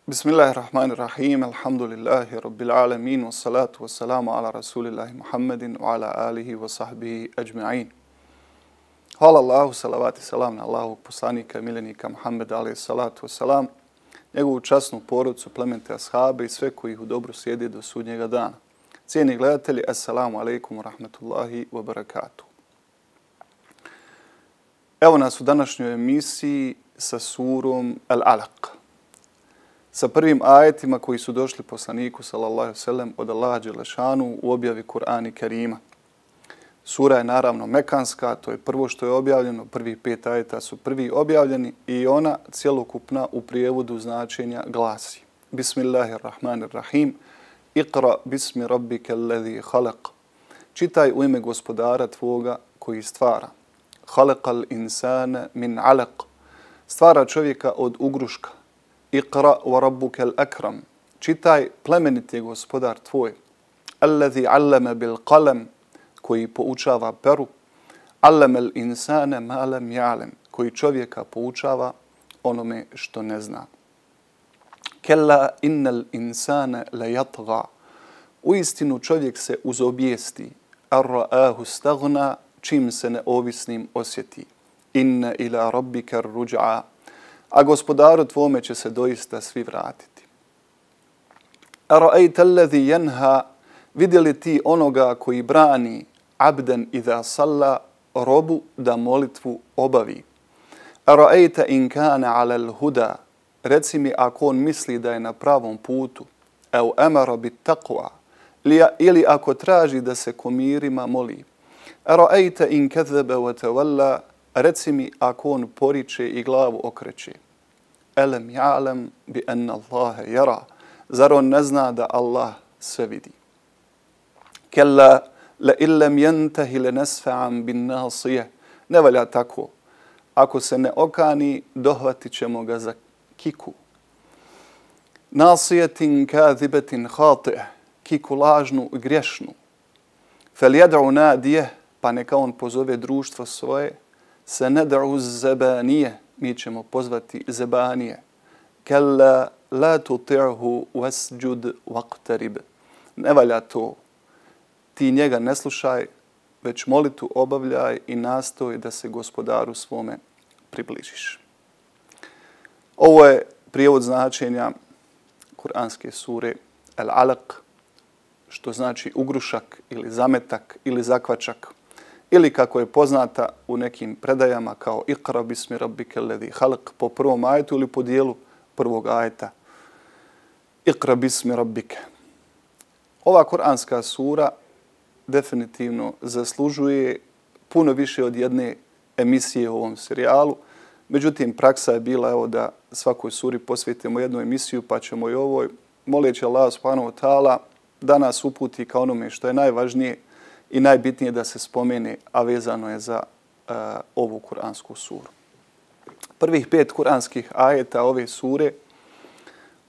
Bismillahirrahmanirrahim, alhamdulillahi rabbil alamin, wassalatu wassalamu ala rasulillahi Muhammedin wa ala alihi wa sahbihi ajma'in. Hvala Allahu, salavat i salam na Allahovog poslanika, miljenika Muhammeda, alaihi salatu wassalam, njegovu časnu porodcu, plemente ashabe i sve koji ih u dobru slijede do sudnjega dana. Cijeni gledatelji, assalamu alaikum wa rahmatullahi wa barakatuh. Evo nas u današnjoj emisiji sa surom Al-Alaq, sa prvim ajetima koji su došli poslaniku sallallahu alejhi ve sellem od Allaha dželešanu u objavi Kur'ana Kerima. Sura je naravno mekanska, to je prvo što je objavljeno, prvih 5 ajeta su prvi objavljeni i ona cjelokupna u prijevodu značenja glasi: Bismillahirrahmanirrahim, Iqra bismi rabbika alladhi khalaq. Čitaj u ime gospodara tvoga koji stvara. Khalaqal insana min alaq. Stvara čovjeka od ugruška. Iqra wa rabbuka al-akram. Čitaj, plemeniti je gospodar tvoj. Alladhi allama bil qalam, koji poučava peru. Allama al-insana ma lam ya'lam, koji čovjeka poučava onome što ne zna. Kalla innal insana la yatgha. Uistinu čovjek se uzobijesti. Ar-ra'ahu staghna, čim se neovisnim osjeti. Inna ila rabbika ar-ruj'a. A gospodaru tvome će se doista svi vratiti. Ara'ayta alladhi yanha, vidjeli ti onoga koji brani abdan idha salla, robu da molitvu obavi. Ara'ayta in kana ala al-huda, reci mi ako on misli da je na pravom putu, au amara bit taqwa, ili ako traži da se komirima moli. Ara'ayta in kadhaba wa tawalla, reci mi ako on poriče i glavu okreće. Alam ya'lam bi anna Allaha yara, zar on ne zna da Allah sve vidi. Kalla la illam yantahi lanasfa'an bin nasiyah, ne valja tako. Ako se ne okani, dohvatit ćemo ga za kiku. Nasiyatin kadhibatin khati'ah, kiku lažnu i grešnu. Falyad'u nadiyah, pa neka on pozove društvo svoje. Se ned'u zabanije, mi ćemo pozvati zebanije. Kalla la tuti'hu wasjud waqtarib. Ne valja to. Ti njega ne slušaj, već molitu obavljaj i nastoj da se gospodaru svome približiš. Ovo je prijevod značenja kuranske sure Al-Alaq, što znači ugrušak ili zametak ili zakvačak, ili kako je poznata u nekim predajama kao Iqra bismi rabbika alladhi khalaq po prvom ajetu ili po dijelu prvog ajeta. Iqra bismi rabbika. Ova kuranska sura definitivno zaslužuje puno više od jedne emisije u ovom serijalu. Međutim, praksa je bila evo da svakoj suri posvetimo jednu emisiju, pa ćemo i ovoj, moleći Allah subhanahu wa ta'ala da nas uputi ka onome što je najvažnije i najbitnije da se spomene, a vezano je za ovu kuransku suru. Prvih 5 kuranskih ajeta ove sure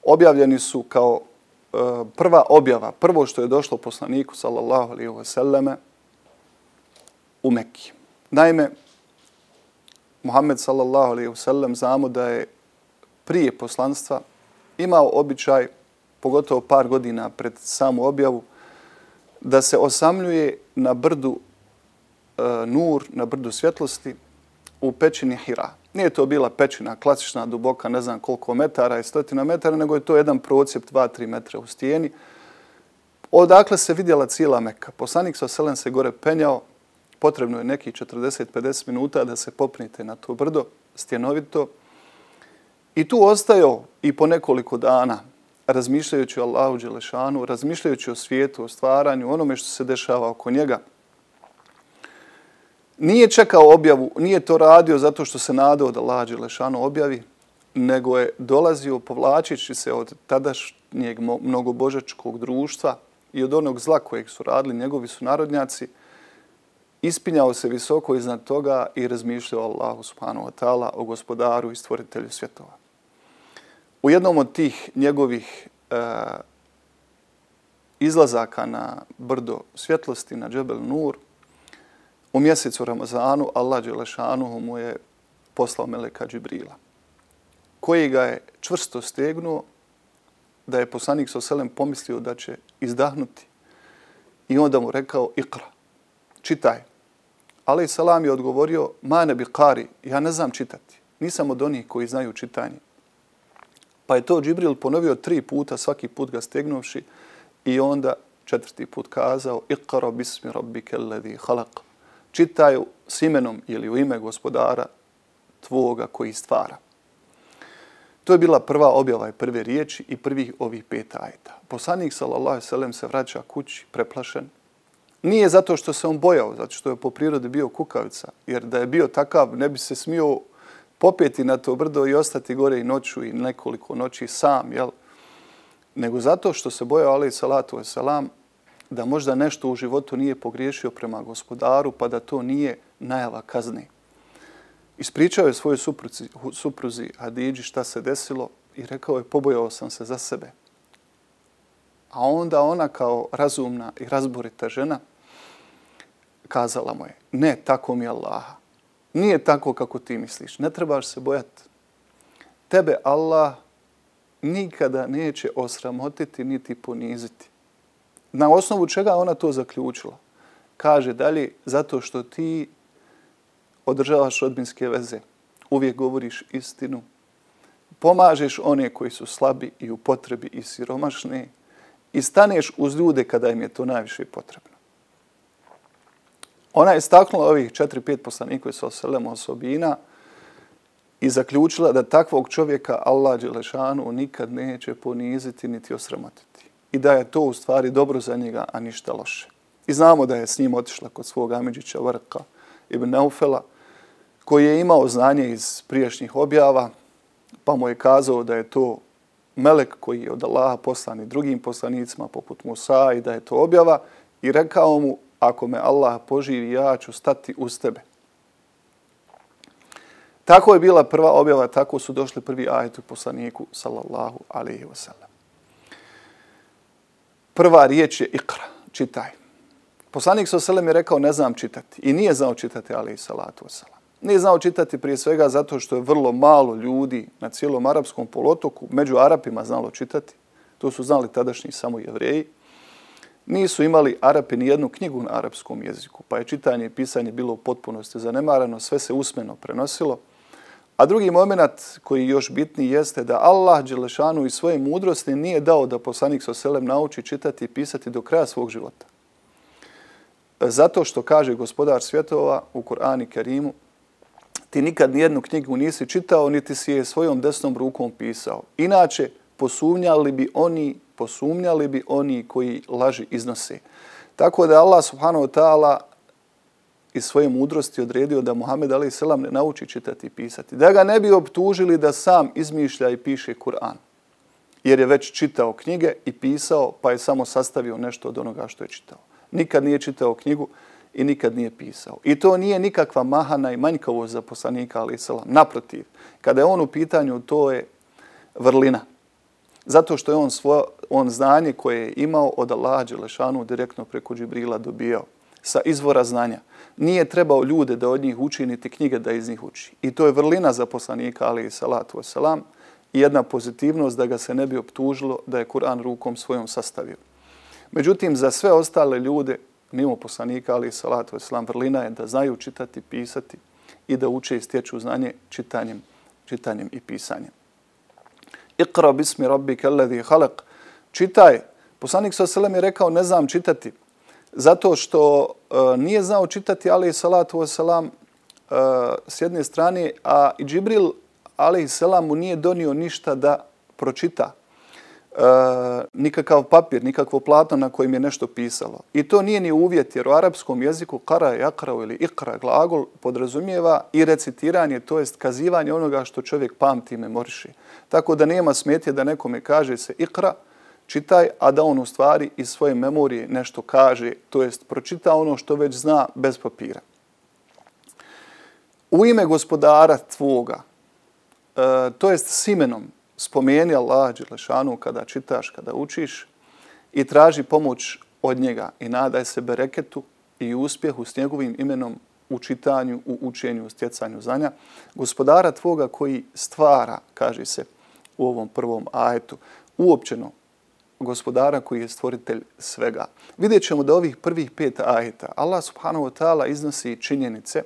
objavljeni su kao prva objava, prvo što je došlo poslaniku sallallahu alejhi ve selleme u Mekki. Naime, Muhammed sallallahu alejhi ve sellem znamo da je prije poslanstva imao običaj, pogotovo par godina pred samu objavu, da se osamljuje na brdu Nur, na brdu svjetlosti u pećini Hira. Nije to bila pećina klasična, duboka, ne znam koliko metara i stotina metara, nego je to jedan procjep 2-3 metra u stijeni. Odakle se vidjela cijela Meka. Poslanik s.a.v. se gore penjao, potrebno je nekih 40-50 minuta da se popnite na to brdo, stjenovito. I tu ostajao i po nekoliko dana, razmišljajući o Allahu dželešanu, razmišljajući o svijetu, o stvaranju, onome što se dešava oko njega. Nije čekao objavu, nije to radio zato što se nadao da Allah dželešanu objavi, nego je dolazio povlačeći se od tadašnjeg mnogobožačkog društva i od onog zla kojeg su radili njegovi sunarodnjaci, ispinjao se visoko iznad toga i razmišljao o Allahu subhanahu wa ta'ala, o gospodaru i stvoritelju svjetova. U jednom od tih njegovih izlazaka na brdo svjetlosti, na Džebel Nur, u mjesecu Ramazanu, Allah dželešanuhu mu je poslao meleka Džibrila, koji ga je čvrsto stegnuo da je poslanik s.a.v. pomislio da će izdahnuti. I onda mu rekao, ikra, čitaj. Alejhi selam je odgovorio, ma ne bi qari, ja ne znam čitati. Nisam od onih koji znaju čitanje. Pa je to Džibril ponovio 3 puta, svaki put ga stegnuši i onda 4. put kazao, ikra bismi rabbike alladhi khalaq. Čitaju s imenom ili u ime gospodara tvoga koji stvara. To je bila prva objava i prve riječi i prvih ovih 5 ajeta. Poslanik sallallahu alejhi ve sellem se vraća kući preplašen. Nije zato što se on bojao, zato što je po prirodi bio kukavica, jer da je bio takav ne bi se smio popeti na to brdo i ostati gore i noću i nekoliko noći sam, jel? Nego zato što se bojao alejhi salatu vesselam da možda nešto u životu nije pogriješio prema gospodaru, pa da to nije najava kazne. Ispričao je svojoj supruzi Hadidži šta se desilo i rekao je, pobojao sam se za sebe. A onda ona kao razumna i razborita žena kazala mu je, ne, tako mi Allaha. Nije tako kako ti misliš, ne trebaš se bojati. Tebe Allah nikada neće osramotiti niti poniziti. Na osnovu čega ona to zaključila? Kaže dalje, zato što ti održavaš rodbinske veze, uvijek govoriš istinu, pomažeš one koji su slabi i u potrebi i siromašne i staneš uz ljude kada im je to najviše potrebno. Ona je istaknula ovih 4-5 poslanika sallallahu osobina i zaključila da takvog čovjeka Allah dželešanu nikad neće poniziti niti osramotiti. I da je to u stvari dobro za njega, a ništa loše. I znamo da je s njim otišla kod svog amidžića Varqa ibn Naufela, koji je imao znanje iz prijašnjih objava, pa mu je kazao da je to melek koji je od Allaha poslan i drugim poslanicima poput Musa i da je to objava i rekao mu, ako me Allah poživi, ja ću stati uz tebe. Tako je bila prva objava, tako su došli prvi ajeti poslaniku sallallahu alejhi ve sellem. Prva riječ je ikra, čitaj. Poslanik sallallahu alejhi ve sellem je rekao, ne znam čitati. I nije znao čitati, alejhi salatu vesselam. Nije znao čitati prije svega zato što je vrlo malo ljudi na cijelom arapskom poluotoku među Arapima znalo čitati. To su znali tadašnji samo Jevreji. Nisu imali Arapi ni jednu knjigu na arapskom jeziku, pa je čitanje i pisanje bilo u potpunosti zanemarano, sve se usmeno prenosilo. A drugi moment koji još bitniji jeste da Allah dželešanu i svoje mudrosti nije dao da poslanik sallallahu alejhi ve sellem nauči čitati i pisati do kraja svog života. Zato što kaže gospodar svjetova u Kur'anu Kerimu, ti nikad nijednu knjigu nisi čitao, niti si je svojom desnom rukom pisao. Inače, posumnjali bi oni koji laži iznose. Tako da Allah subhanahu wa ta'ala iz svoje mudrosti odredio da Muhammed alejhi selam ne nauči čitati i pisati. Da ga ne bi optužili da sam izmišlja i piše Kur'an. Jer je već čitao knjige i pisao, pa je samo sastavio nešto od onoga što je čitao. Nikad nije čitao knjigu i nikad nije pisao. I to nije nikakva mahana i manjkavost za poslanika alejhi selam. Naprotiv, kada je on u pitanju, to je vrlina. Zato što je on znanje koje je imao od Allaha dželešanu direktno preko Džibrila dobijao sa izvora znanja. Nije trebao ljude da od njih uči, niti knjige da iz njih uči. I to je vrlina za poslanika alejhi salatu vesselam i jedna pozitivnost da ga se ne bi optužilo da je Kur'an rukom svojom sastavio. Međutim, za sve ostale ljude, mimo poslanika alejhi salatu vesselam, vrlina je da znaju čitati, pisati i da uče i stječu znanje čitanjem i pisanjem. Iqra bismi rabbika alladhi khalaq. Čitaj. Poslanik sallallahu alejhi ve sellem je rekao, ne znam čitati. Zato što nije znao čitati alejhi salatu vesselam s jedne strane, a i Džibril alejhi selam mu nije donio ništa da pročita. Nikakav papir, nikakvo platno na kojem je nešto pisalo. I to nije ni uvjet, jer u arapskom jeziku kara, jakra ili ikra glagol podrazumijeva i recitiranje, to jest kazivanje onoga što čovjek pamti i memoriše. Tako da nema smetje da nekome kaže se ikra, čitaj, a da on u stvari iz svoje memorije nešto kaže, to jest pročita ono što već zna bez papira. U ime gospodara tvoga, to jest s imenom, spomeni Allah dželešanu kada čitaš, kada učiš i traži pomoć od njega i nadaj se bereketu i uspjehu s njegovim imenom u čitanju, u učenju, u stjecanju znanja. Gospodara tvoga koji stvara, kaže se u ovom prvom ajetu, uopćeno gospodara koji je stvoritelj svega. Vidjet ćemo da ovih prvih 5 ajeta Allah subhanahu wa ta'ala iznosi činjenice,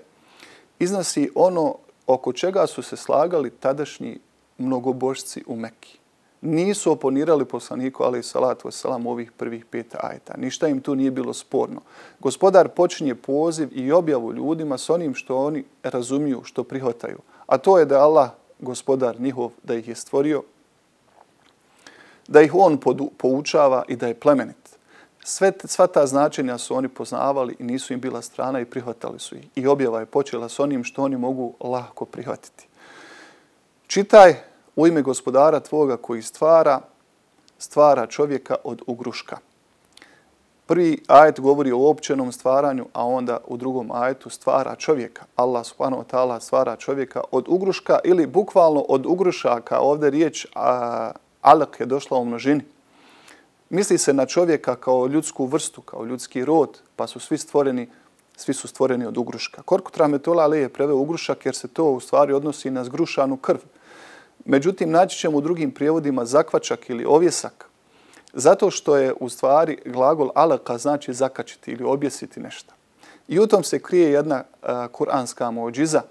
iznosi ono oko čega su se slagali tadašnji mnogobožci u Mekki. Nisu oponirali poslaniku alejhi salatu vesselam ovih prvih 5 ajeta. Ništa im tu nije bilo sporno. Gospodar počinje poziv i objavu ljudima s onim što oni razumiju, što prihvataju. A to je da Allah, gospodar njihov, da ih je stvorio, da ih on poučava i da je plemenit. Sva ta značenja su oni poznavali i nisu im bila strana i prihvatali su ih. I objava je počela s onim što oni mogu lako prihvatiti. Čitaj u ime gospodara tvoga koji stvara čovjeka od ugruška. Prvi ajet govori o općenom stvaranju, a onda u drugom ajetu stvara čovjeka. Allah subhanahu wa ta'ala stvara čovjeka od ugruška ili bukvalno od ugrušaka. Ovdje riječ alak je došla u množini. Misli se na čovjeka kao ljudsku vrstu, kao ljudski rod, pa su svi su stvoreni od ugruška. Korkut rahmetullah alejhi je preveo ugrušak jer se to u stvari odnosi na zgrušanu krv. Međutim, naći ćemo u drugim prijevodima zakvačak ili ovjesak, zato što je u stvari glagol alaka znači zakačiti ili objesiti nešto. I u tom se krije jedna kuranska muđiza,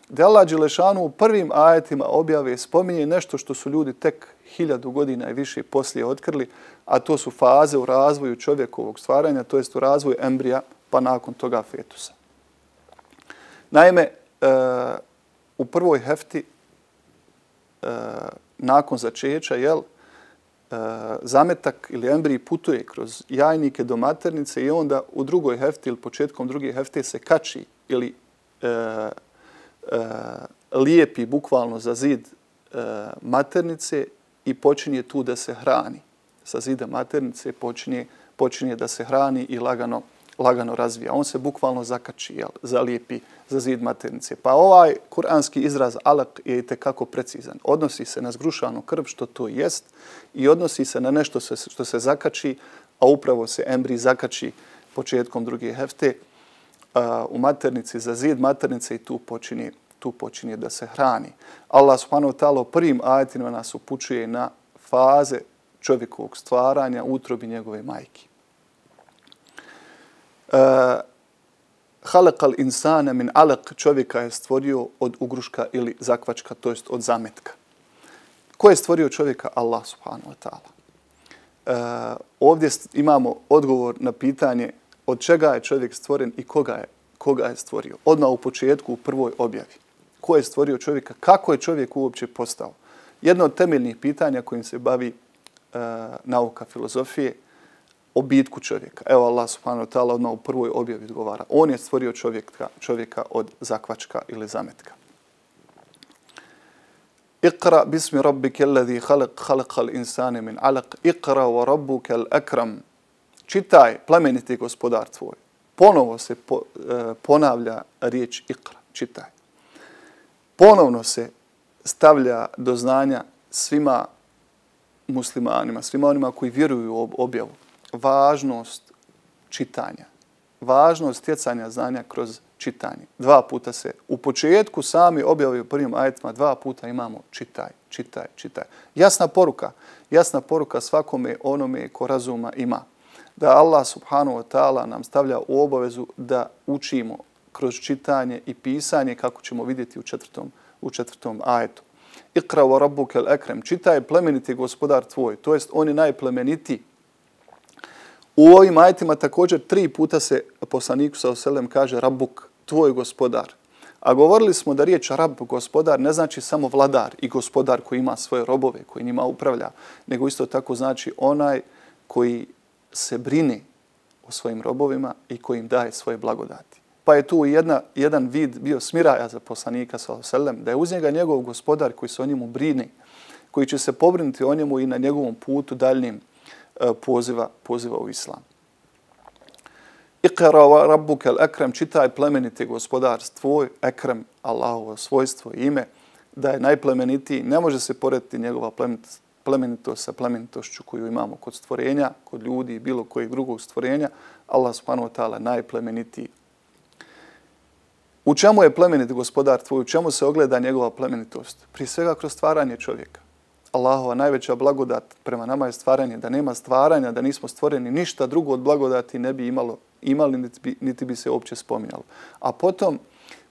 da Allah dželešanu u prvim ajetima objave spominje nešto što su ljudi tek 1000 godina i više poslije otkrili, a to su faze u razvoju čovjekovog stvaranja, to jest u razvoju embrija, pa nakon toga fetusa. Naime, u prvoj hefti nakon začeća, zametak ili embrij putuje kroz jajnike do maternice i onda u drugoj hefti ili početkom druge hefte se kači ili lijepi bukvalno za zid maternice i počinje tu da se hrani. Sa zida maternice počinje da se hrani i lagano razvija. On se bukvalno zakači, zalijepi za zid maternice. Pa ovaj kuranski izraz alak je itekako precizan. Odnosi se na zgrušanu krv, što to jest, i odnosi se na nešto što se zakači, a upravo se embrij zakači početkom druge hefte u maternici za zid maternice i tu počinje da se hrani. Allah subhanahu wa ta'ala u prvim ajetima nas upućuje na faze čovjekovog stvaranja u utrobi njegove majke. Halakal insana min alaq, čovjeka je stvorio od ugruška ili zakvačka, to jest od zametka. Ko je stvorio čovjeka? Allah subhanahu wa ta'ala. Ovdje imamo odgovor na pitanje od čega je čovjek stvoren i koga je stvorio. Odmah u početku, u prvoj objavi. Ko je stvorio čovjeka? Kako je čovjek uopće postao? Jedno od temeljnih pitanja kojim se bavi nauka filozofije, o bitku čovjeka. Evo Allah subhanahu wa ta'ala odmah u prvoj objavi odgovara. On je stvorio čovjeka od zakvačka ili zametka. Iqra bismi rabbike alladhi khalaqal insane min alaq. Iqra wa rabbukal akram. Čitaj, plemeniti gospodar tvoj. Ponovo se ponavlja riječ iqra, čitaj. Ponovno se stavlja do znanja svima muslimanima, svima onima koji vjeruju u objavu, važnost čitanja, važnost stjecanja znanja kroz čitanje. 2 puta se u početku sami objave u prvim ajetima, 2 puta imamo čitaj, čitaj, čitaj. Jasna poruka svakome onome ko razuma ima. Da Allah subhanahu wa ta'ala nam stavlja u obavezu da učimo kroz čitanje i pisanje, kako ćemo vidjeti u četvrtom ajetu. Iqra wa rabbukal akram. Čitaj, plemeniti gospodar tvoj, to jest on je najplemenitiji. U ovim ajetima također 3 puta se poslaniku sallallahu alejhi ve sellem kaže rabbuk, tvoj gospodar. A govorili smo da riječ rab, gospodar, ne znači samo vladar i gospodar koji ima svoje robove, koji njima upravlja, nego isto tako znači onaj koji se brine o svojim robovima i koji im daje svoje blagodati. Pa je tu jedan vid bio smiraja za poslanika sallallahu alejhi ve sellem, da je uz njega njegov gospodar koji se o njemu brine, koji će se pobrinuti o njemu i na njegovom putu daljnjim poziva u islam. Iqra wa rabbukal akram, čitaj, plemeniti gospodar tvoj, akram, Allahovo svojstvo i ime, da je najplemenitiji. Ne može se porediti njegova plemenitost sa plemenitošću koju imamo kod stvorenja, kod ljudi i bilo kojeg drugog stvorenja. Allah subhanahu wa ta'ala najplemenitiji. U čemu je plemeniti gospodar tvoj? U čemu se ogleda njegova plemenitost? Prije svega kroz stvaranje čovjeka. Allahova najveća blagodat prema nama je stvaranje. Da nema stvaranja, da nismo stvoreni, ništa drugo od blagodati ne bi imali, niti bi se uopće spominjalo. A potom,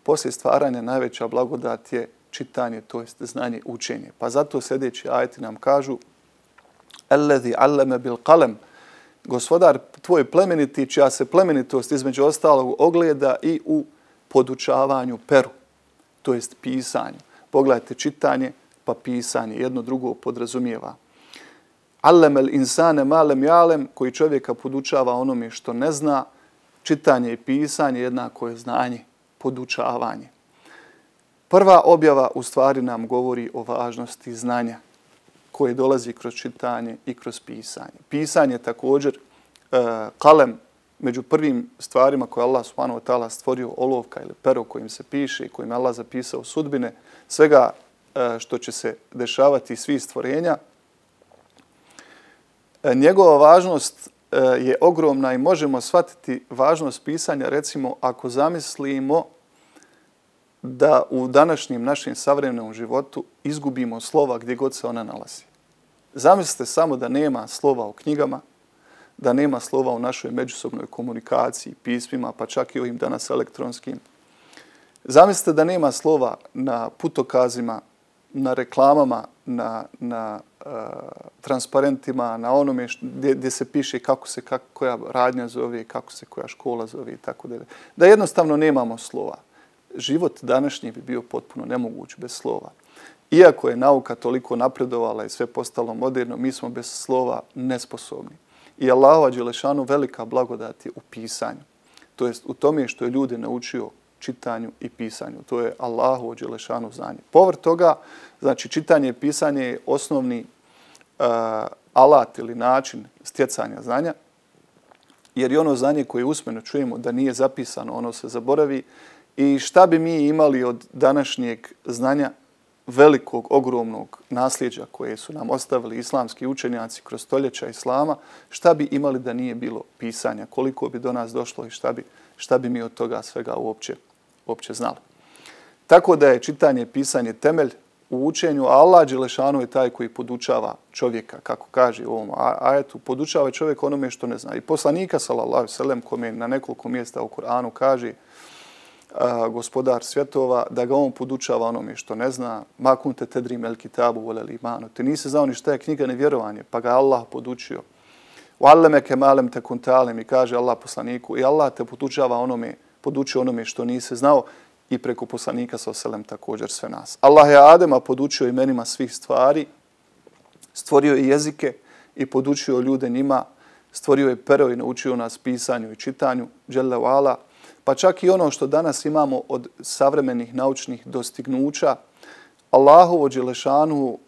poslije stvaranja, najveća blagodat je čitanje, to jest znanje, učenje. Pa zato sljedeći ajeti nam kažu Alladhi allama bil qalam, Gospodar tvoj plemeniti, čija se plemenitost između ostalog ogleda i u podučavanju peru, to jest pisanju. Pogledajte, čitanje pa pisanje, jedno drugo podrazumijeva. Allamel insane ma lam ya'lam, koji čovjeka podučava onome što ne zna. Čitanje i pisanje jednako je znanje, podučavanje. Prva objava u stvari nam govori o važnosti znanja koje dolazi kroz čitanje i kroz pisanje. Pisanje također, kalem, među prvim stvarima koje Allah subhanahu wa ta'ala stvorio, olovka ili pero kojim se piše i kojim Allah zapisao sudbine, svega što će se dešavati svih stvorenja. Njegova važnost je ogromna i možemo shvatiti važnost pisanja, recimo, ako zamislimo da u današnjem našem savremenom životu izgubimo slova gdje god se ona nalazi. Zamislite samo da nema slova u knjigama, da nema slova u našoj međusobnoj komunikaciji, pismima, pa čak i ovim danas elektronskim. Zamislite da nema slova na putokazima, na reklamama, na transparentima, na onome gdje se piše kako se koja radnja zove, kako se koja škola zove i tako dalje. Da jednostavno nemamo slova. Život današnji bi bio potpuno nemoguć bez slova. Iako je nauka toliko napredovala i sve postalo moderno, mi smo bez slova nesposobni. I Allahova dželešanu velika blagodat je u pisanju. To jest u tome što je ljude naučio čitanju i pisanju. To je Allahovo dželešanu znanje. Povrh toga, znači čitanje i pisanje je osnovni alat ili način stjecanja znanja, jer je ono znanje koje usmeno čujemo da nije zapisano, ono se zaboravi. I šta bi mi imali od današnjeg znanja, velikog, ogromnog nasljeđa koje su nam ostavili islamski učenjaci kroz stoljeća islama, šta bi imali da nije bilo pisanja, koliko bi do nas došlo i šta bi mi od toga svega uopće znali. Tako da je čitanje i pisanje temelj u učenju, a Allah dželešanu je taj koji podučava čovjeka, kako kaže u ovom ajetu, podučava čovjek onome što ne zna. I poslanika, sallallahu alejhi ve sellem, kome na nekoliko mjesta u Kur'anu kaže Gospodar svjetova, da ga on podučava onome što ne zna. Ma kunte tedri mel kitabu volel imanu. Ti nisi znao ni šta je knjiga ni vjerovanje, pa ga Allah podučio. Uallemeke malem te kuntalem, i kaže Allah poslaniku, i Allah te podučio onome što nisi znao, i preko poslanika sallallahu alejhi ve sellem također sve nas. Allah je Adema podučio imenima svih stvari, stvorio je jezike i podučio ljude njima, stvorio je pero i naučio nas pisanju i čitanju, dželle ve ala. Pa čak i ono što danas imamo od savremenih naučnih dostignuća, Allahovo dželešanu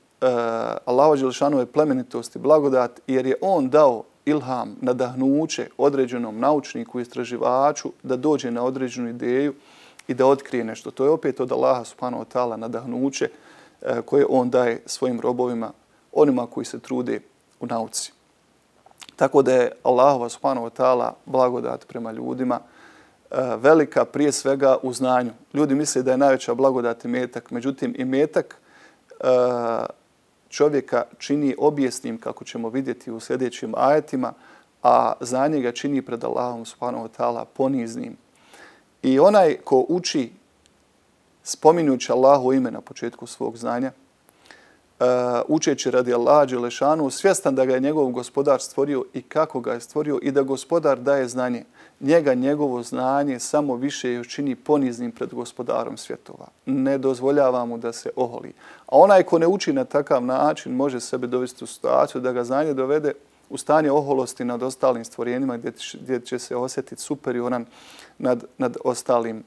je plemenitost i blagodat, jer je on dao ilham, nadahnuće određenom naučniku i istraživaču da dođe na određenu ideju i da otkrije nešto. To je opet od Allaha subhanahu wa ta'ala nadahnuće koje on daje svojim robovima, onima koji se trude u nauci. Tako da je Allahova subhanahu wa ta'ala blagodat prema ljudima velika prije svega u znanju. Ljudi misle da je najveća blagodat imetak, međutim imetak čovjeka čini objesnim, kako ćemo vidjeti u sljedećim ajetima, a znanje ga čini pred Allahom subhanahu wa ta'ala poniznim. I onaj ko uči spominjući Allahu ime na početku svog znanja, učeći radi Allaha dželešanu, svjestan da ga je njegov gospodar stvorio i kako ga je stvorio i da gospodar daje znanje, njega njegovo znanje samo više još čini poniznim pred gospodarom svjetova. Ne dozvoljava mu da se oholi. A onaj ko ne uči na takav način može sebe dovesti u situaciju da ga znanje dovede u stanje oholosti nad ostalim stvorenjima gdje će se osjetiti superioran nad ostalim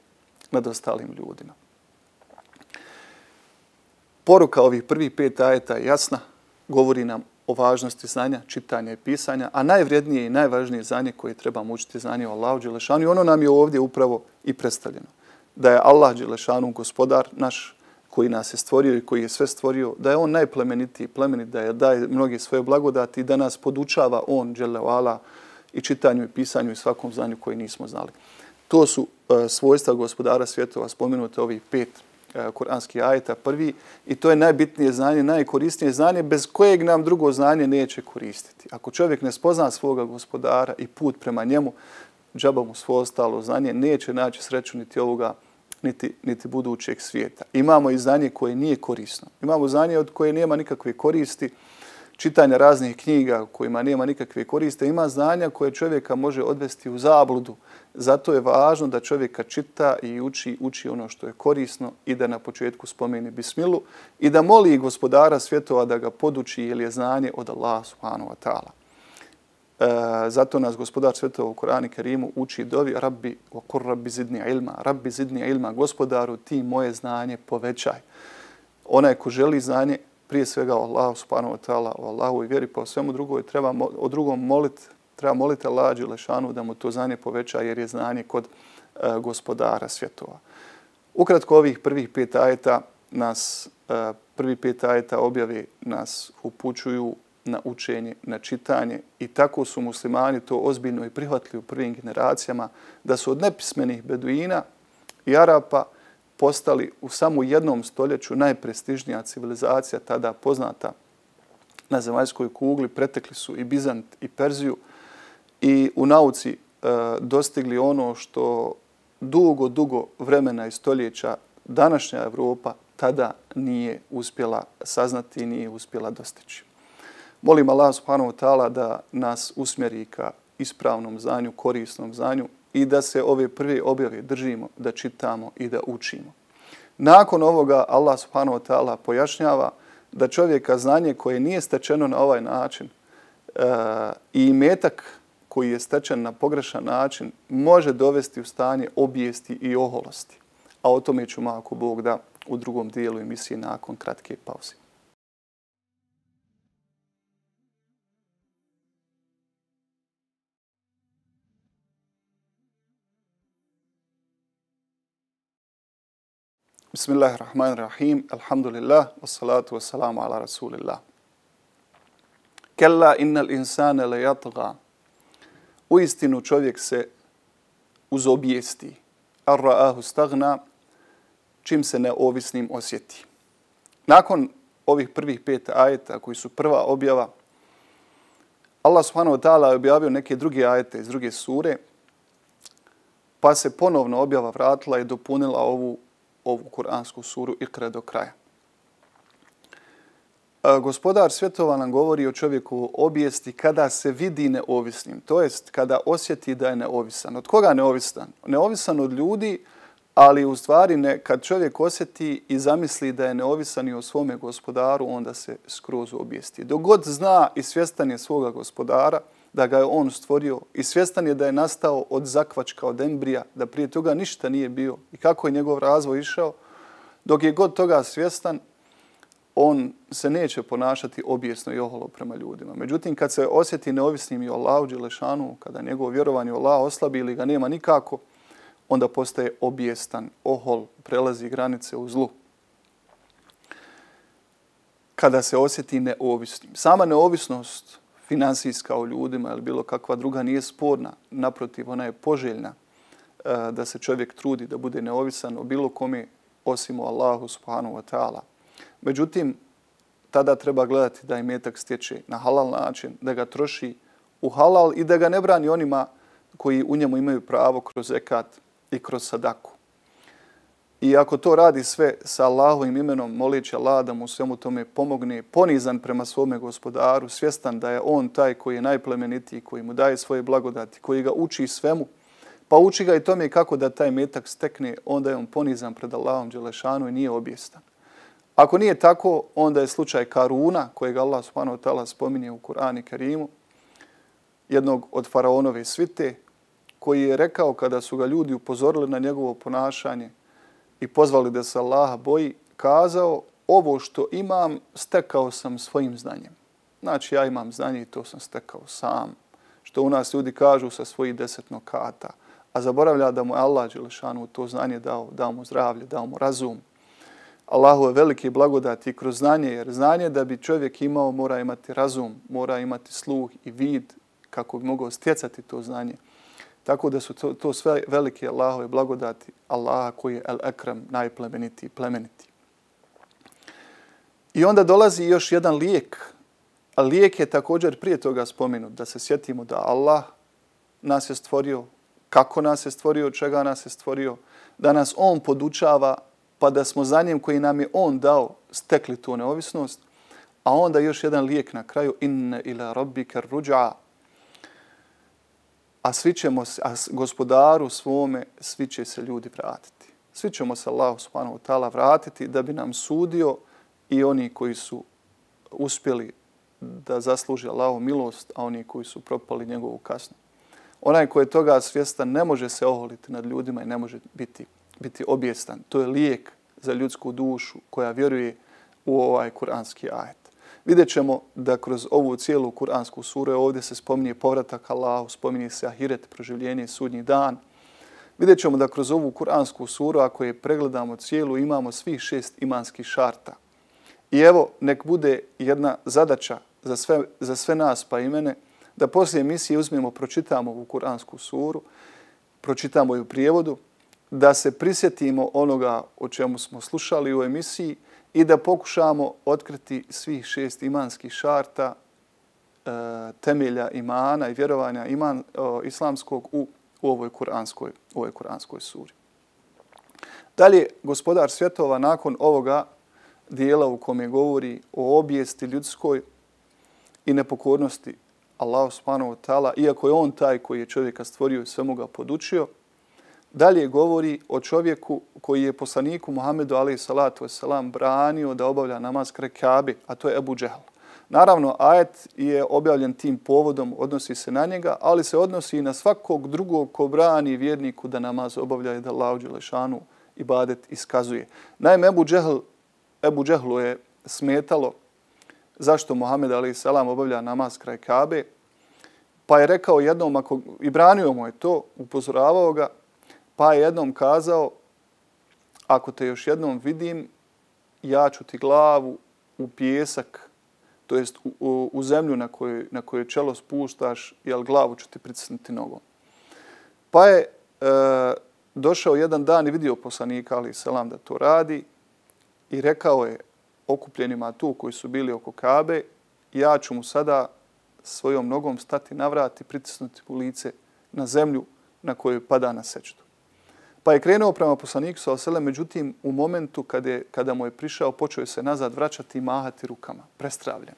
ljudima. Poruka ovih prvih 5 ajeta je jasna, govori nam o važnosti znanja, čitanja i pisanja, a najvrijednije i najvažnije znanje koje trebamo učiti znanje o Allahu dželešanu, i ono nam je ovdje upravo i predstavljeno. Da je Allah dželešanu gospodar naš koji nas je stvorio i koji je sve stvorio, da je on najplemenitiji plemenit, da je daje mnoge svoje blagodati i da nas podučava on dželle ve ala i čitanju i pisanju i svakom znanju koji nismo znali. To su svojstva gospodara svjetova, spomenute ovih kuranskih ajeta prvi i to je najbitnije znanje, najkorisnije znanje bez kojeg nam drugo znanje neće koristiti. Ako čovjek ne spozna svoga gospodara i put prema njemu, džaba mu svo ostalo znanje, neće naći sreću niti ovoga, niti budućeg svijeta. Imamo i znanje koje nije korisno. Imamo znanje od koje nema nikakve koristi, čitanja raznih knjiga kojima nema nikakve koriste. Ima znanja koje čovjeka može odvesti u zabludu. Zato je važno da čovjeka čita i uči ono što je korisno i da na početku spomeni bismilu i da moli gospodara svjetova da ga poduči jer je znanje od Allaha subhanahu wa ta'ala. Zato nas gospodar svjetova u Kur'anu Kerimu uči dovi Rabbi wa kur Rabbi zidni ilma. Rabbi zidni ilma. Gospodaru, ti moje znanje povećaj. Onaj ko želi znanje, prije svega o Allahu subhanahu wa ta'ala, o Allahu i vjeri, pa o svemu drugom treba moliti Allaha dželešanu da mu to znanje poveća jer je znanje kod gospodara svjetova. Ukratko ovih prvih 5 ajeta prvi 5 ajeta objave nas upućuju na učenje, na čitanje i tako su muslimani to ozbiljno i prihvatili u prvim generacijama da su od nepismenih beduina i Arapa postali u samo jednom stoljeću najprestižnija civilizacija tada poznata na zemaljskoj kugli. Pretekli su i Bizant i Perziju i u nauci dostigli ono što dugo vremena i stoljeća današnja Evropa tada nije uspjela saznati i nije uspjela dostići. Molim Allah subhanahu wa ta'ala da nas usmjeri ka ispravnom znanju, korisnom znanju i da se ove prve objave držimo, da čitamo i da učimo. Nakon ovoga Allah subhanahu wa ta'ala pojašnjava da čovjeka znanje koje nije stečeno na ovaj način i imetak koji je stečen na pogrešan način može dovesti u stanje obijesti i oholosti. A o tome ćemo, ako Bog da, u drugom dijelu emisije nakon kratke pauze. Bismillahirrahmanirrahim. Alhamdulillah. Wassalatu wassalamu ala rasulillah. Kalla innal insana la yatgha. Uistinu čovjek se uzobijesti. Ar-ra'ahu staghna, čim se neovisnim osjeti. Nakon ovih prvih 5 ajeta koji su prva objava, Allah subhanahu wa ta'ala je objavio neke druge ajete iz druge sure, pa se ponovno objava vratila i dopunila ovu kuransku suru Ikra do kraja. Gospodar svjetova nam govori o čovjeku obijesti kada se vidi neovisnim, to jest kada osjeti da je neovisan. Od koga neovisan? Neovisan od ljudi, ali u stvari kad čovjek osjeti i zamisli da je neovisan i o svome gospodaru, onda se skroz obijesti. Dok god zna i svjestan je svoga gospodara, da ga je on stvorio i svjestan je da je nastao od zakvačka, od embrija, da prije toga ništa nije bio i kako je njegov razvoj išao, dok je god toga svjestan, on se neće ponašati obijesno i oholo prema ljudima. Međutim, kad se osjeti neovisnim i o Allahu dželešanu, kada njegovo vjerovanje u Allaha oslabi ili ga nema nikako, onda postaje obijestan, ohol, prelazi granice u zlu. Kada se osjeti neovisnim. Sama neovisnost finansijska u ljudima ili bilo kakva druga nije sporna. Naprotiv, ona je poželjna da se čovjek trudi da bude neovisan o bilo kome osim o Allahu subhanahu wa ta'ala. Međutim, tada treba gledati da imetak stječe na halal način, da ga troši u halal i da ga ne brani onima koji u njemu imaju pravo kroz zekat i kroz sadaku. I ako to radi sve sa Allahovim imenom, moleći Allah da mu svemu tome pomogne, ponizan prema svome gospodaru, svjestan da je on taj koji je najplemenitiji, koji mu daje svoje blagodati, koji ga uči svemu, pa uči ga i tome kako da taj metak stekne, onda je on ponizan pred Allahom dželešanu i nije obijestan. Ako nije tako, onda je slučaj Karuna, kojeg Allah subhanahu wa ta'ala spominje u Kur'anu Kerimu, jednog od faraonove svite, koji je rekao kada su ga ljudi upozorili na njegovo ponašanje i pozvali da se Allaha boji, kazao: ovo što imam stekao sam svojim znanjem. Znači, ja imam znanje i to sam stekao sam. Što u nas ljudi kažu sa svojih 10 nokata. A zaboravlja da mu je Allah dželešanu to znanje dao mu zdravlje, dao mu razum. Allahu je veliki blagodati kroz znanje, jer znanje da bi čovjek imao mora imati razum, mora imati sluh i vid kako bi mogao stjecati to znanje. Tako da su to sve velike Allahove blagodati, Allaha koji je el-Ekrem, najplemenitiji, plemeniti. I onda dolazi još jedan lijek. A lijek je također prije toga spomenut, da se sjetimo da Allah nas je stvorio, kako nas je stvorio, čega nas je stvorio, da nas On podučava, pa da smo za njim koji nam je On dao stekli tu neovisnost, a onda još jedan lijek na kraju, inne ila rabbika rudža, a svi ćemo se, gospodaru svome, svi će se ljudi vratiti. Svi ćemo se Allahu subhanahu wa ta'ala vratiti da bi nam sudio i oni koji su uspjeli da zasluži Allahu milost, a oni koji su propali njegovu kaznu. Onaj koji je toga svjestan ne može se oholiti nad ljudima i ne može biti objestan. To je lijek za ljudsku dušu koja vjeruje u ovaj kuranski ajet. Vidjet ćemo da kroz ovu cijelu kuransku suru ovdje se spominje povratak Allahu, spominje se ahiret, proživljenje, sudnji dan. Vidjet ćemo da kroz ovu kuransku suru, ako je pregledamo cijelu, imamo svih 6 imanskih šarta. I evo, nek bude jedna zadaća za sve nas pa i mene, da poslije emisije uzmemo, pročitamo ovu kuransku suru, pročitamo ju u prijevodu, da se prisjetimo onoga o čemu smo slušali u emisiji i da pokušamo otkriti svih 6 imanskih šarta, temelja imana i vjerovanja islamskog u ovoj kuranskoj suri. Dalje, gospodar svjetova nakon ovoga dijela u kome govori o obijesti ljudskoj i nepokornosti Allahu subhanahu wa ta'ala, iako je on taj koji je čovjeka stvorio i svemu ga podučio, dalje govori o čovjeku koji je poslaniku Muhammedu alejhi salatu vesselam branio da obavlja namaz kraj Kabe, a to je Ebu Džehl. Naravno, ajet je objavljen tim povodom, odnosi se na njega, ali se odnosi i na svakog drugog ko brani vjerniku da namaz obavlja i da Allahu dželešanu ibadet iskazuje. Naime, Ebu Džehlu je smetalo zašto Muhammed alejhi selam obavlja namaz kraj Kabe, pa je rekao jednom, i branio mu je to, upozoravao ga, pa je jednom kazao, ako te još jednom vidim, ja ću ti glavu u pijesak, to jest u zemlju na kojoj čelo spuštaš, jel glavu ću ti pritisnuti nogom. Pa je došao jedan dan i vidio poslanika alejhi selam da to radi i rekao je okupljenima tu koji su bili oko Kabe, ja ću mu sada svojom nogom stati na vrat i pritisnuti u lice na zemlju na kojoj pada na sećdu. Pa je krenuo prema poslaniku sallallahu alejhi ve sellem, međutim u momentu kada mu je prišao, počeo je se nazad vraćati i mahati rukama, prestravljen.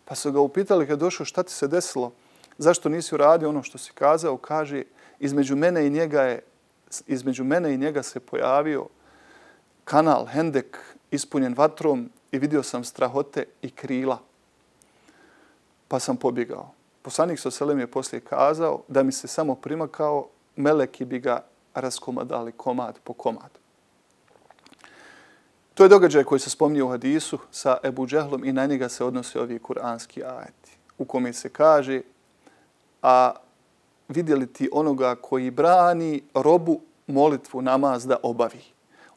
Pa su ga upitali kad je došao šta ti se desilo, zašto nisi uradio ono što si kazao, kaže između mene i njega se pojavio kanal, hendek ispunjen vatrom i vidio sam strahote i krila. Pa sam pobjegao. Poslanik sallallahu alejhi ve sellem je poslije kazao da mi se samo primakao, meleki bi ga raskomadali komad po komad. To je događaj koji se spominje u hadisu sa Ebu Džehlom i na njega se odnose ovi kuranski ajeti, u kome se kaže, a vidjeli ti onoga koji brani robu molitvu namaz da obavi.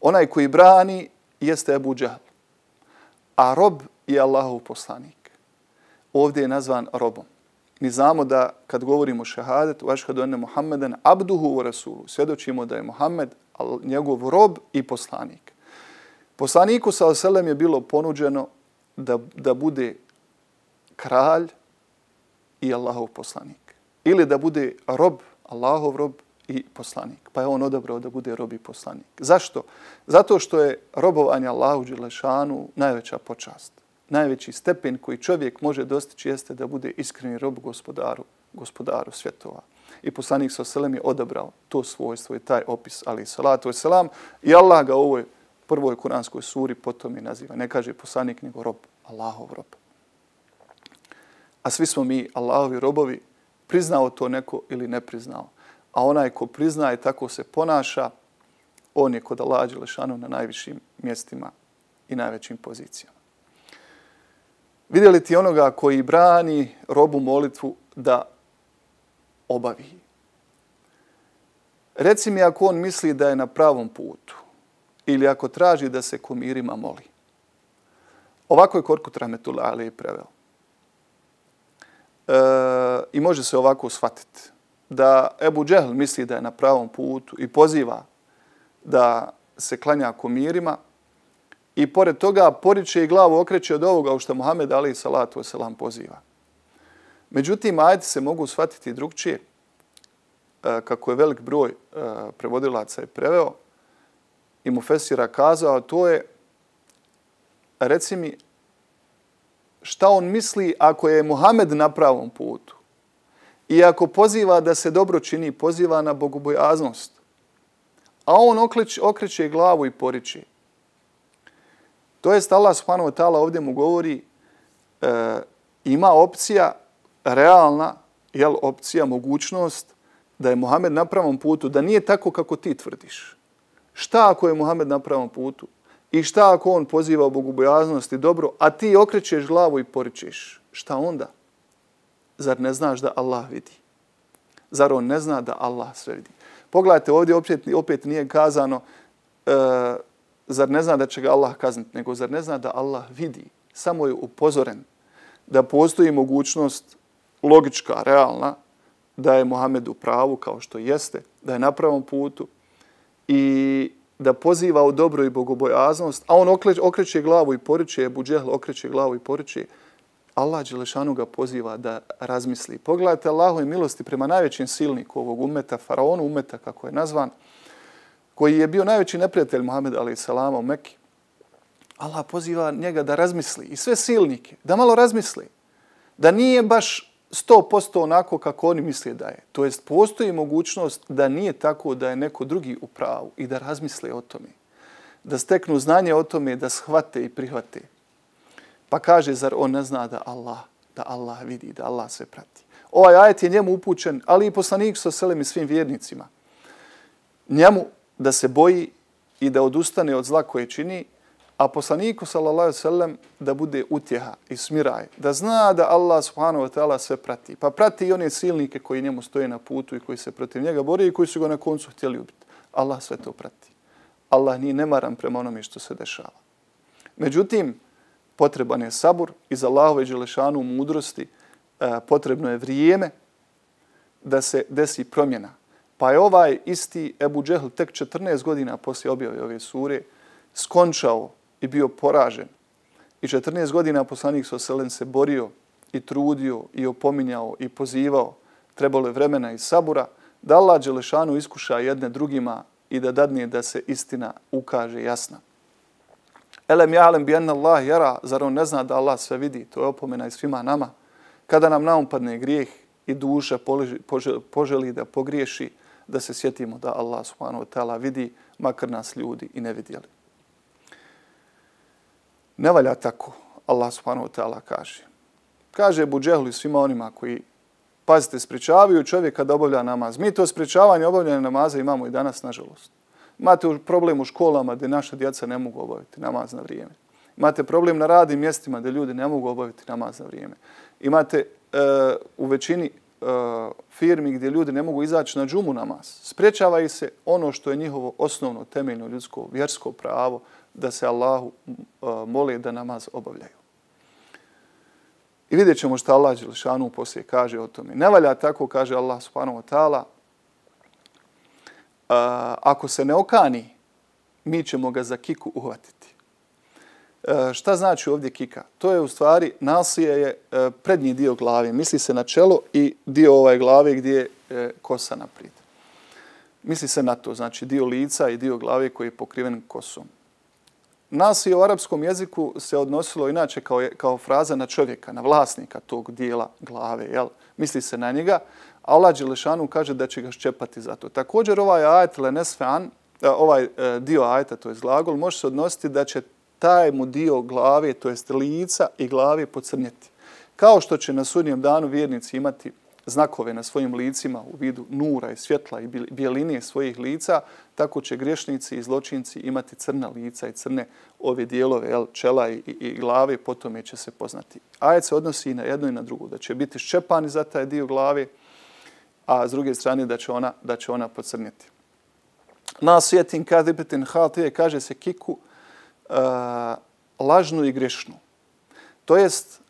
Onaj koji brani jeste Ebu Džehl, a rob je Allahov poslanik. Ovdje je nazvan robom. Mi znamo da kad govorimo šehadetu, ašhadu enne Muhammeden abduhu wa rasulu, svjedočimo da je Muhammed njegov rob i poslanik. Poslaniku sallallahu alejhi ve sellem je bilo ponuđeno da bude kralj i Allahov poslanik. Ili da bude rob, Allahov rob i poslanik. Pa je on odabrao da bude rob i poslanik. Zašto? Zato što je robovanje Allahu dželešanu najveća počast. Najveći stepen koji čovjek može dostići jeste da bude iskreni rob gospodaru svjetova. I poslanik sallallahu alejhi ve sellem je odabrao to svojstvo i taj opis, alejhi salatu vesselam, i Allah ga u ovoj prvoj kuranskoj suri potom i naziva. Ne kaže poslanik nego rob, Allahov rob. A svi smo mi Allahovi robovi, priznao to neko ili ne priznao. A onaj ko priznaje tako se ponaša, on je kod Allaha dželešanu na najvišim mjestima i najvećim pozicijama. Vidjeli ti onoga koji brani robu molitvu da obavi. Reci mi ako on misli da je na pravom putu ili ako traži da se kumirima moli. Ovako je Korkut rahmetullahi alejhi preveo. I može se ovako shvatiti. da Ebu Džehl misli da je na pravom putu i poziva da se klanja kumirima i pored toga poriče i glavu okreće od ovoga u što Muhammed alejhi salatu vesselam poziva. Međutim, ajeti se mogu shvatiti drugčije, kako je velik broj prevodilaca i preveo i mufesira kazao, to je, reci mi, šta on misli ako je Muhammed na pravom putu i ako poziva da se dobro čini, poziva na bogobojaznost, a on okreće glavu i poriče. To jest Allah subhanahu wa ta'ala ovdje mu govori ima opcija realna, opcija, mogućnost da je Muhammed na pravom putu, da nije tako kako ti tvrdiš. Šta ako je Muhammed na pravom putu? I šta ako on poziva u bogobojaznost i dobro, a ti okrećeš glavu i poričeš? Šta onda? Zar ne znaš da Allah vidi? Zar on ne zna da Allah sve vidi? Pogledajte, ovdje opet nije kazano zar ne zna da će ga Allah kazniti, nego zar ne zna da Allah vidi? Samo je upozoren da postoji mogućnost logička, realna, da je Muhammed u pravu kao što jeste, da je na pravom putu i da poziva u dobro i bogobojaznost, a on okreće glavu i poriče, Ebu Džehl okreće glavu i poriče, Allah dželešanu ga poziva da razmisli. Pogledajte Allahove milosti prema najvećim silniku ovog umeta, faraonu umeta kako je nazvan, koji je bio najveći neprijatelj Muhammeda alejhi selama u Mekki. Allah poziva njega da razmisli i sve silnike, da malo razmisli, da nije baš 100% onako kako oni misle da je. To jest, postoji mogućnost da nije tako da je neko drugi u pravu i da razmisle o tome. Da steknu znanje o tome, da shvate i prihvate. Pa kaže, zar on ne zna da Allah vidi, da Allah sve prati. Ovaj ajet je njemu upućen, ali i poslaniku s.a.v. i svim vjernicima. Njemu da se boji i da odustane od zla koje čini, a poslaniku s.a.v. da bude utjeha i smiraj, da zna da Allah subhanahu wa ta'ala sve prati. Pa prati i one silnike koji njemu stoje na putu i koji se protiv njega bore i koji su ga na koncu htjeli ubiti. Allah sve to prati. Allah nije nemaran prema onome što se dešava. Međutim, potreban je sabur iz Allahove dželešanu mudrosti, potrebno je vrijeme da se desi promjena. Pa je ovaj isti Ebu Džehl tek 14 godina poslije objave ove sure skončao i bio poražen. I 14 godina poslanik s.a.v. se borio i trudio i opominjao i pozivao. Trebalo je vremena i sabura da Allah dželešanu iskuša jedne drugima i da dadne da se istina ukaže jasna. Elem ja'lem bi anna Allah jara, zar on ne zna da Allah sve vidi? To je opomena i svima nama. Kada nam naumpadne grijeh i duša poželi da pogriješi, da se sjetimo da Allah subhanahu wa ta'ala vidi, makar nas ljudi i ne vidjeli. Ne valja tako, Allah subhanahu wa ta'ala kaže. Kaže Ebu Džehlu i svima onima koji, pazite, sprečavaju čovjeka da obavlja namaz. Mi to sprečavanje obavljanja namaza imamo i danas, nažalost. Imate problem u školama gdje naša djeca ne mogu obaviti namaz na vrijeme. Imate problem na radnim mjestima gdje ljudi ne mogu obaviti namaz na vrijeme. Imate u većini firmi gdje ljudi ne mogu izaći na džumu namaz. Sprečava ih se ono što je njihovo osnovno, temeljno, ljudsko, vjersko pravo da se Allahu mole da namaz obavljaju. I vidjet ćemo što Allah dželešanu poslije kaže o tome. Ne valja tako, kaže Allah subhanahu wa ta'ala, ako se ne okani, mi ćemo ga za kiku uhvatiti. Šta znači ovdje kika? To je u stvari, nasije je prednji dio glave. Misli se na čelo i dio ovaj glave gdje je kosa naprijed. Misli se na to, znači dio lica i dio glave koji je pokriven kosom. Nasije u arapskom jeziku se odnosilo inače kao fraza na čovjeka, na vlasnika tog dijela glave. Jel? Misli se na njega. Allah dželešanu kaže da će ga ščepati za to. Također ovaj ajet lenesfean, ovaj dio ajeta, to je glagol, može se odnositi da će taj mu dio glave, to jest lica i glave pocrnjeti. Kao što će na sudnjem danu vjernici imati znakove na svojim licima u vidu nura i svjetla i bijeline svojih lica, tako će griješnici i zločinci imati crna lica i crne ove dijelove čela i glave, potom će se poznati. Ajet se odnosi i na jedno i na drugo, da će biti ščepani za taj dio glave, a s druge strane da će ona pocrnjeti. Nasijetin kadibetin hatije, kaže se kiku, lažnu i grešnu. To jest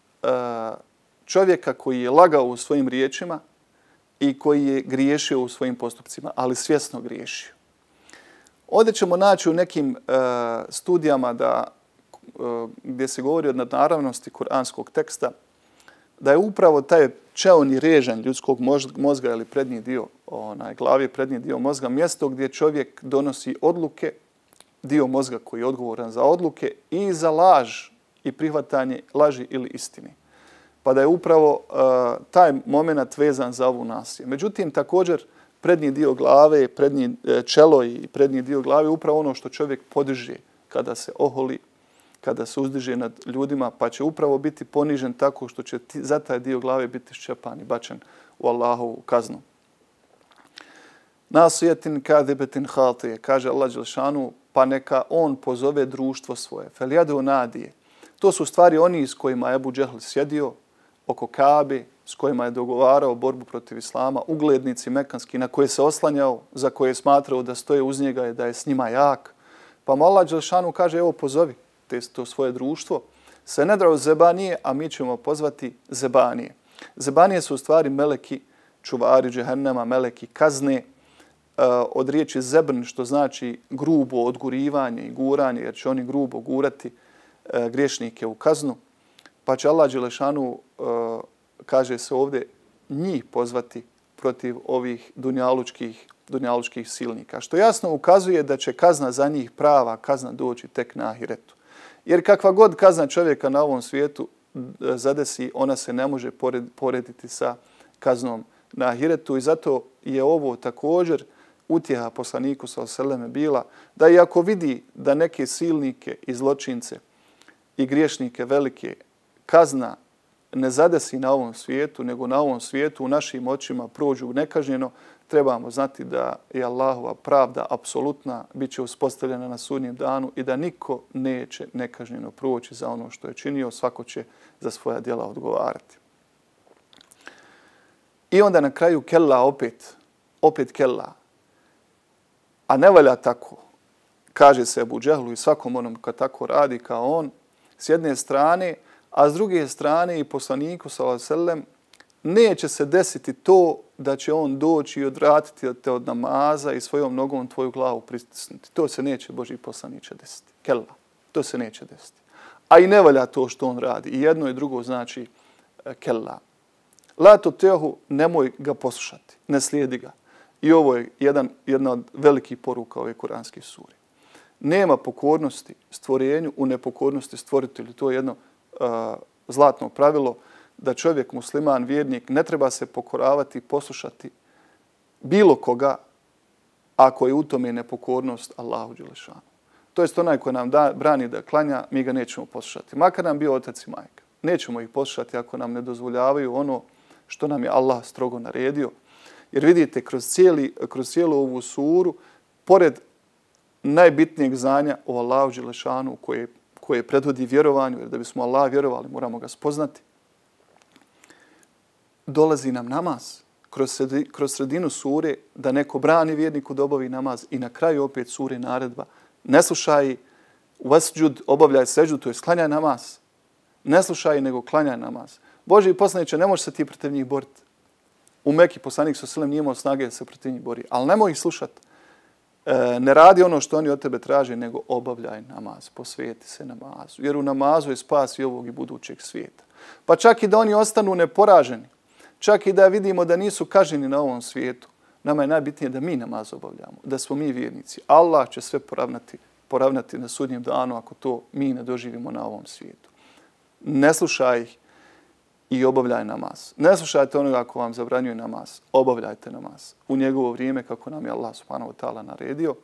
čovjeka koji je lagao u svojim riječima i koji je griješio u svojim postupcima, ali svjesno griješio. Ovdje ćemo naći u nekim studijama gdje se govori o nadnaravnosti kuranskog teksta, da je upravo taj čeoni režanj ljudskog mozga ili prednji dio glave, prednji dio mozga, mjesto gdje čovjek donosi odluke, dio mozga koji je odgovoran za odluke i za laž i prihvatanje laži ili istine. Pa da je upravo taj moment vezan za ovu nasilje. Međutim, također, prednji dio glave, čelo i prednji dio glave upravo ono što čovjek podiže kada se oholi, kada se uzdiže nad ljudima, pa će upravo biti ponižen tako što će za taj dio glave biti ščepan i bačen u Allahovu kaznu. Nasijetin kadibetin hatije, kaže Allah dželešanu, pa neka on pozove društvo svoje. Felijadu nadije. To su stvari oni s kojima je Ebu Džehl sjedio oko Kabe, s kojima je dogovarao borbu protiv Islama, uglednici mekanski na koje se oslanjao, za koje je smatrao da stoje uz njega i da je s njima jak. Pa mu Allah dželešanu kaže, evo pozovi to svoje društvo. Se ne drao zebanije, a mi ćemo pozvati zebanije. Zebanije su u stvari meleki, čuvari džehennema, meleki kazne, od riječi zebn, što znači grubo odgurivanje i guranje, jer će oni grubo gurati griješnike u kaznu. Pa će Allah dželešanu, kaže se ovdje, njih pozvati protiv ovih dunjalučkih silnika. Što jasno ukazuje da će kazna za njih, prava kazna, doći tek na ahiretu. Jer kakva god kazna čovjeka na ovom svijetu zadesi, ona se ne može porediti sa kaznom na ahiretu i zato je ovo također utjeha poslaniku sallallahu alejhi ve selleme bila da iako vidi da neke silnike i zločince i griješnike velike kazna ne zadesi na ovom svijetu, nego na ovom svijetu u našim očima prođu nekažnjeno, trebamo znati da je Allahova pravda apsolutna, bit će uspostavljena na sudnjem danu i da niko neće nekažnjeno proći za ono što je činio, svako će za svoja djela odgovarati. I onda na kraju kella opet kella. A ne valja tako, kaže se Ebu Džehlu i svakom onom kad tako radi kao on, s jedne strane, a s druge strane i poslaniku sallallahu alejhi ve sellem neće se desiti to da će on doći i odvratiti te od namaza i svojom nogom tvoju glavu pristisnuti. To se neće Božji poslaniče desiti. Kella, to se neće desiti. A i ne valja to što on radi. I jedno i drugo znači kella. La tuti'hu, nemoj ga poslušati, ne slijedi ga. I ovo je jedna od velikih poruka ove kuranske sure. Nema pokornosti stvorenju u nepokornosti stvoritelju. To je jedno zlatno pravilo da čovjek, musliman, vjernik, ne treba se pokoravati i poslušati bilo koga ako je u tome nepokornost Allahu dželešanu. To jest onaj koji nam brani da klanja, mi ga nećemo poslušati. Makar nam bio otac i majka. Nećemo ih poslušati ako nam ne dozvoljavaju ono što nam je Allah strogo naredio. Jer vidite, kroz cijelu ovu suru, pored najbitnijeg znanja o Allahu dželešanu koje predvodi vjerovanju, jer da bismo Allah vjerovali moramo ga spoznati, dolazi nam namaz kroz sredinu sure da neko brani vjerniku da obavi namaz i na kraju opet sure naredba. Ne slušaj vasđud, obavljaj seđdu, to je sklanjaj namaz. Ne slušaj nego klanjaj namaz. Božji poslaniče, ne možeš se ti protiv njih boriti. U Meki poslanik sallallahu alejhi ve sellem nije imao snage da se protiv njih bori, ali nemoj ih slušati. Ne radi ono što oni od tebe traže, nego obavljaj namaz, posvijeti se namazu. Jer u namazu je spas i ovog i budućeg svijeta. Pa čak i da oni ostanu neporaženi, čak i da vidimo da nisu kažnjeni na ovom svijetu, nama je najbitnije da mi namaz obavljamo, da smo mi vjernici. Allah će sve poravnati na sudnjem danu ako to mi ne doživimo na ovom svijetu. Ne slušaj ih i obavljaj namaz. Ne slušajte onoga ako vam zabranjuje namaz. Obavljajte namaz u njegovo vrijeme kako nam je Allah subhanahu wa ta'ala naredio.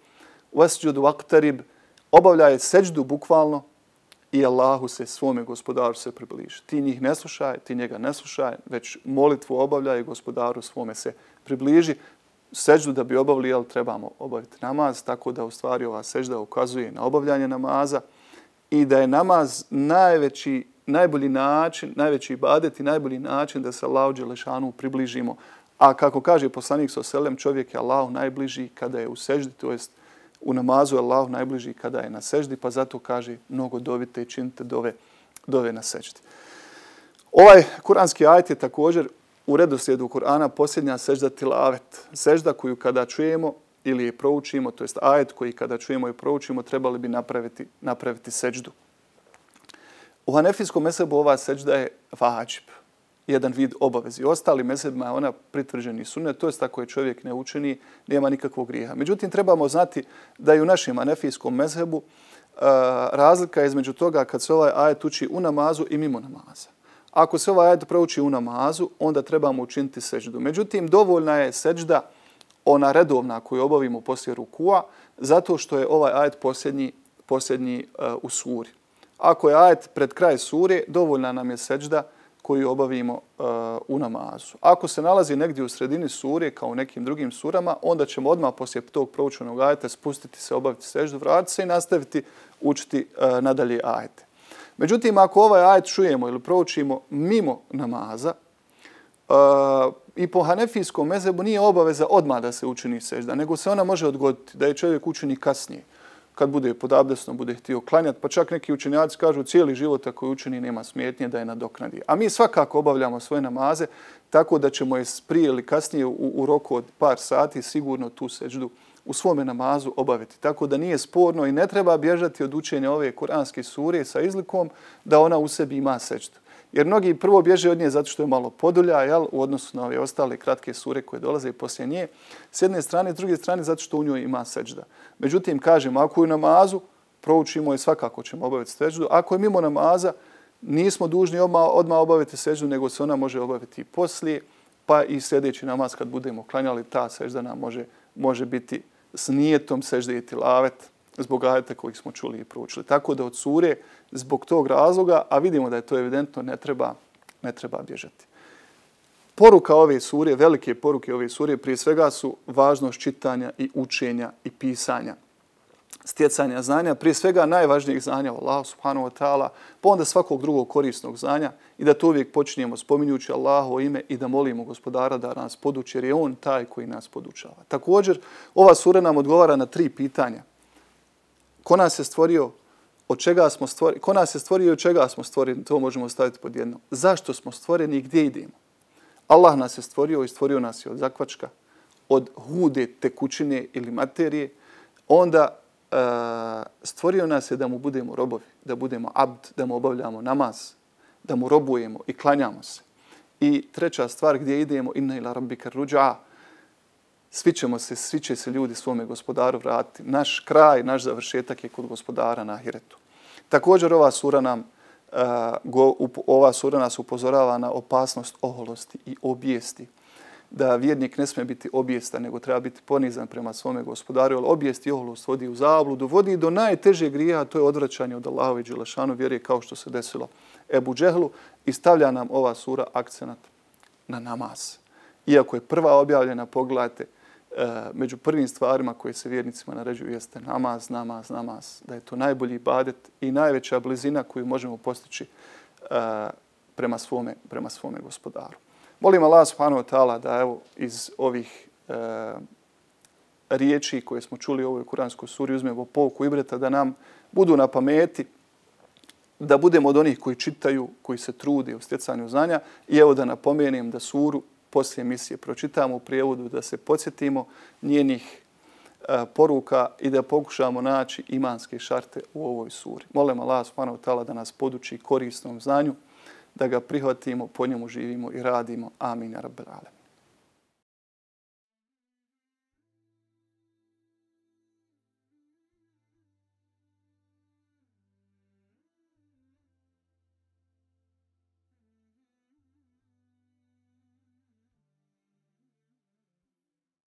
Wasjud waqtarib, obavljaj seđdu bukvalno i Allahu se, svome gospodaru se približi. Ti njih ne slušaj, ti njega ne slušaj, već molitvu obavljaj i gospodaru svome se približi. Seđdu da bi obavili, ali trebamo obaviti namaz, tako da u stvari ova seđda ukazuje na obavljanje namaza i da je namaz najbolji način, najveći ibadet i najbolji način da se Allahu dželešanu približimo. A kako kaže poslanik sallallahu alejhi ve sellem, čovjek je Allahu najbliži kada je u seždi, to jest u namazu je Allahu najbliži kada je na seždi, pa zato kaže mnogo dovite i činite dove na seždi. Ovaj kuranski ajet je također u redoslijedu Kur'ana posljednja sežda tilavet. Sežda koju kada čujemo ili je proučimo, to jest ajet koji kada čujemo i proučimo, trebali bi napraviti seždu. U hanefijskom mezhebu ova sežda je vađib, jedan vid obavezi. Ostali mezhebima je ona pritvrđeni sunnet, to jest ako je čovjek ne učini, nema nikakvog grijeha. Međutim, trebamo znati da i u našem hanefijskom mezhebu razlika je između toga kad se ovaj ajet uči u namazu i mimo namaza. Ako se ovaj ajet prouči u namazu, onda trebamo učiniti seždu. Međutim, dovoljna je sežda ona redovna koju obavimo poslije rukua, zato što je ovaj ajet posljednji u suri. Ako je ajet pred kraj sure, dovoljna nam je sežda koju obavimo u namazu. Ako se nalazi negdje u sredini sure, kao u nekim drugim surama, onda ćemo odmah poslije tog proučenog ajeta spustiti se, obaviti seždu, vratiti se i nastaviti učiti nadalje ajete. Međutim, ako ovaj ajet čujemo ili proučimo mimo namaza, i po hanefijskom mezhebu nije obaveza odmah da se učini sežda, nego se ona može odgoditi, da je čovjek učini kasnije. Kad bude pod abdestom, bude htio klanjati, pa čak neki učenjaci kažu cijeli život ako je učini nema smetnje da je nadoknadi. A mi svakako obavljamo svoje namaze tako da ćemo je prije ili kasnije u roku od par sati sigurno tu seždu u svome namazu obaviti. Tako da nije sporno i ne treba bježati od učenja ove kuranske sure sa izlikom da ona u sebi ima seždu. Jer mnogi prvo bježe od nje zato što je malo podulja, u odnosu na ove ostale kratke sure koje dolaze poslije nje. S jedne strane, s druge strane zato što u njoj ima sežda. Međutim, kažemo, ako je u namazu, proučimo je svakako ćemo obaviti seždu. Ako je mimo namaza, nismo dužni odmah obaviti seždu, nego se ona može obaviti i poslije, pa i sljedeći namaz kad budemo klanjali, ta sežda nam može biti s nijetom sežde i tilavet zbog ajeta kojih smo čuli i proučili. Tako da od sure zbog tog razloga, a vidimo da je to evidentno, ne treba bježati. Poruka ove sure, velike poruke ove sure, prije svega su važnost čitanja i učenja i pisanja. Stjecanja znanja, prije svega najvažnijeg znanja o Allahu subhanahu wa ta'ala, pa onda svakog drugog korisnog znanja i da to uvijek počinjemo spominjući Allahovo ime i da molimo Gospodara da nas poduči, jer je On taj koji nas podučava. Također, ova sura nam odgovara na 3 pitanja. Ko nas je stvorio, od čega smo stvoreni, ko nas je stvorio i od čega smo stvoreni, to možemo staviti pod jedno. Zašto smo stvoreni i gdje idemo? Allah nas je stvorio i stvorio nas je od zakvačka, od hude tekućine ili materije. Onda stvorio nas je da mu budemo robovi, da budemo abd, da mu obavljamo namaz, da mu robujemo i klanjamo se. I treća stvar, gdje idemo, inna ila rabbika ruđa, svi će se ljudi svome gospodaru vratiti. Naš kraj, naš završetak je kod gospodara na ahiretu. Također ova sura nas upozorava na opasnost oholosti i obijesti. Da vjernik ne smije biti obijestan, nego treba biti ponizan prema svome gospodaru, jer obijest i oholost vodi u zabludu, vodi do najtežeg grijeha, a to je odvraćanje od Allahove i dželešanu vjere, kao što se desilo Ebu Džehlu, i stavlja nam ova sura akcenat na namaz. Iako je prva objavljena, pogledajte, među prvim stvarima koje se vjernicima naređuju jeste namaz, da je to najbolji ibadet i najveća blizina koju možemo postići prema svome gospodaru. Molim Allah subhanahu wa ta'ala da evo iz ovih riječi koje smo čuli u ovoj kuranskoj suri uzmemo pouku ibreta, da nam budu na pameti, da budemo od onih koji čitaju, koji se trude u stjecanju znanja. I evo da napomenem da suru poslije emisije pročitamo u prijevodu, da se podsjetimo njenih poruka i da pokušamo naći imanske šarte u ovoj suri. Molim Allah subhanahu wa ta'ala da nas poduči korisnom znanju, da ga prihvatimo, po njemu živimo i radimo. Amin, ja rabbel alem.